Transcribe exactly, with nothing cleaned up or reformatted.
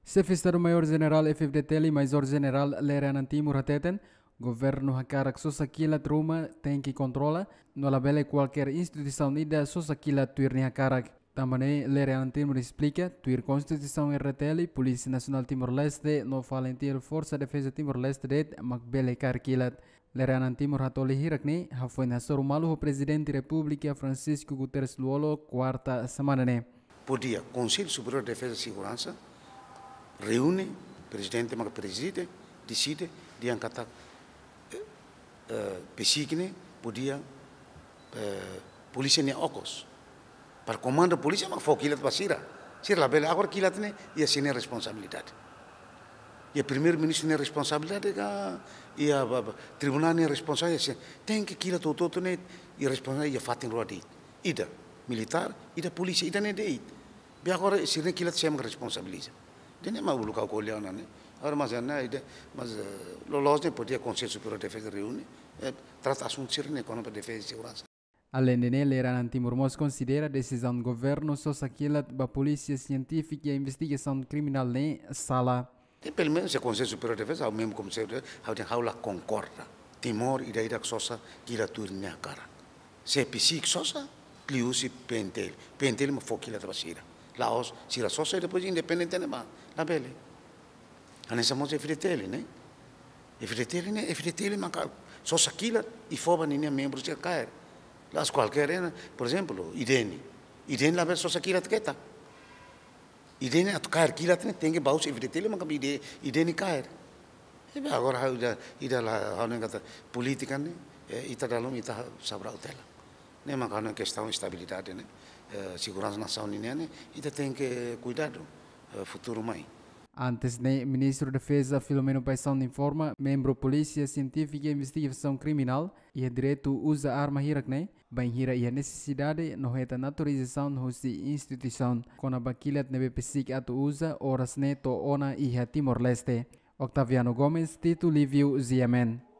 Xefe Estadu Maiór Jenerál F-FDTL, Maizór Jenerál Lere Anan Timur hateten, governu hakarak sosa kilat ruma tenke kontrola, no labele kualkér instituisaun ida sosa kilat tuir nia hakarak. Tanba ne'e Lere Anan Timur esplika, tuir Konstituisaun R D T L, Polísia Nasionál Timor-Leste no fali tiha Forsa Defeza Timor-Leste de'it mak bele kaer kilat. Lere Anan Timur hatoli hirak ne'e hafoin hasoru malu ho Prezidente Repúblika Francisco Guterres Lú-Olo, kuarta semana ne'e. Podia Konsellu Superiór de Defeza e Seguransa reúne, prezidente maka prezide, deside, dehan katak, eh, eh, PCIC ne'e podia, eh, polísia nia okos. Para komandu polísia mak fó kilat ba sira. Sira labele, agora kilat ne'e iha sira-nia responsabilidade. Iha Primeiru-Ministru nia responsabilidade ka, iha ba, ba, tribunál nia responsabilidade, iha sira. Tenke kilat hotu-hotu ne'e iha responsabilidade iha fatin rua de'it. Ida militár, ida polísia, ida ne'e de'it. Be agora sira-nia kilat sé mak responsabiliza? Ida-ne'e mak uluk ha'u ko'alia ona ne'e. Agora mas ne'e ida, mas, eh, loloos ne'e podia Konsellu Superiór de Defeza reúne, eh, trata asuntu sira-ne'e kona-ba defeza e seguransa. Aleinde ne'e, Lere Anan Timur mós konsidera desizaun governu sosa kilat ba Polísia Sientífika Investigasaun Kriminál ne'e sala. E pelumenus se Konsellu Superiór de Defeza, ha'u memu komu se, ha'u dehan ha'u la konkorda. Timor ida-idak sosa kilat tuir nia hakarak. Se PCIC sosa, liuhusi PNTL. PNTL mak fó kilat ba sira. La'ós sira sosa i depois independente ne'ebá. Labele. Hanesan mós F-FDTL ne'e. F-FDTL ne'e, F-FDTL maka sosa kilat i fó ba ninia membru sira kaer. La'ós kualkér, eh, por ezemplu, IDENI. IDENI labele sosa kilat ketak. IDENI atu kaer kilat ne'e tenke ba husi F-FDTL maka ide, IDENI kaer. Ebe agora ha'u ida, ida la, ha'u hanoin katak polítika ne'e, eh, ita dala ruma ita sabraut hela. Ne'e maka ha'u hanoin kestaun estabilidade ne'e, eh, seguransa nasaun nian ne'e, ita tenke kuidadu, eh, futuru mai. Antes ne'e, Ministru Defeza Filomeno Paixão informa, membru Polísia Sientífika Investigasaun Kriminál iha direitu uza arma hirak ne'e, bainhira iha nesesidade no hetan autorizasaun husi instituisaun kona-ba kilat ne'ebé PCIC atu uza oras ne'e to'o ona iha Timor-Leste. Octaviano Gomes, Tito Livio, G M N.